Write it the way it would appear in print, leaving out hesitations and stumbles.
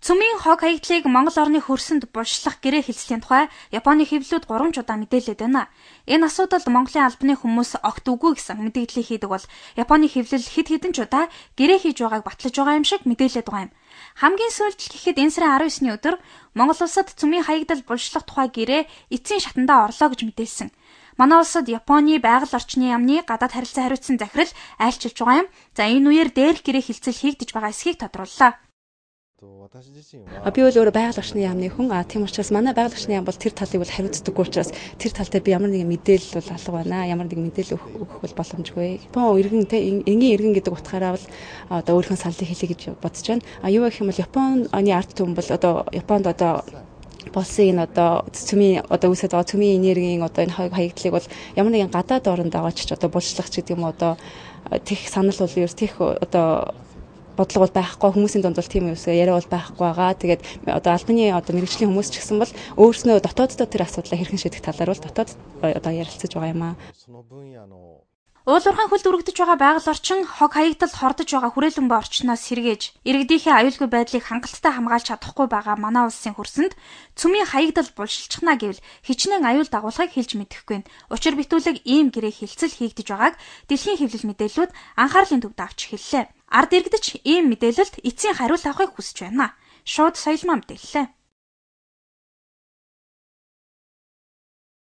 Цөмийн хог хаягдлыг Монгол орны хөрсөнд булшлах гэрээ хэлслийн тухай Японы хэвлэлүүд 3 удаа мэдээлээд байна. Энэ асуудалд Монголын албаны хүмүүс огт үгүй гэсэн мэдээлэл хийдэг бол Японы хэвлэл хэд хэдэн ч удаа гэрээ хийж байгааг батлаж байгаа юм шиг мэдээлээд байгаа юм. Хамгийн сүүлдэл гэхэд энэ сарын 19-ний өдөр Монгол улсад цөмийн хаягдал булшлах тухай гэрээ эцсийн шатандаа орлоо гэж мэдээлсэн. Манай улсад Японы байгаль орчны яамны гадаад харилцаа хариуцсан захирал айлчилж байгаа юм. За энэ үеэр дээрх гэрээ хилцэл хийгдэж байгаа эсхийг тодрууллаа. Би бол өөрөө байгаль орчны яамны хүн. Тийм учраас манай байгаль орчны яам бол тэр талыг бол хариуцдаггүй учраас тэр тал дээр би ямар нэгэн мэдээлэл бол алга байна. Ямар нэгэн мэдээлэл өгөх бол боломжгүй. Япон иргэн энгийн иргэн гэдэг утгаараа бол одоо өөрийнхөө саллыг хэлье гэж бодож байна. Юу гэх юм бол Японы ард түмэн бол одоо Японд одоо болсон энэ одоо цөмийн одоо үсэд байгаа цөмийн энергийн одоо энэ хаягдлыг бол ямар нэгэн гадаад оронд байгаа ч одоо булшлах ч гэдэг юм одоо тех санал бол ерөөс тех одоо бодлого бол байхгүй, хүмүүсийн дунд бол тийм юусаа яриа бол байхгүй байгаа. Тэгээд одоо албаны одоо мэргэжлийн хүмүүс ч гэсэн бол өөрснөө дотооддоо тэр асуудлаа хэрхэн шийдэх талаар бол дотоод одоо ярилцаж байгаа юм аа. Уулуурхайн хөлд өргөдөж байгаа байгаль орчин хог хаягдал хордож байгаа хүрээлэн буй орчноос сэргээж иргэдийнхээ аюулгүй байдлыг хангалттай хамгаалж чадахгүй байгаа манай улсын хөрсөнд цөмийн хаягдал булшилчихна гэвэл хичнээн аюул дагуулгыг хэлж мэдэхгүй. Учир битүүлэг ийм гэрээ хилцэл хийгдэж байгааг дэлхийн хэвлэл мэдээллүүд анхаарлын төвд авч хэллээ. Ард иргэдч ийм мэдээлэлд эцсийн хариулт авахыг хүсэж байна. Шууд соёлмаа мэдээллээ.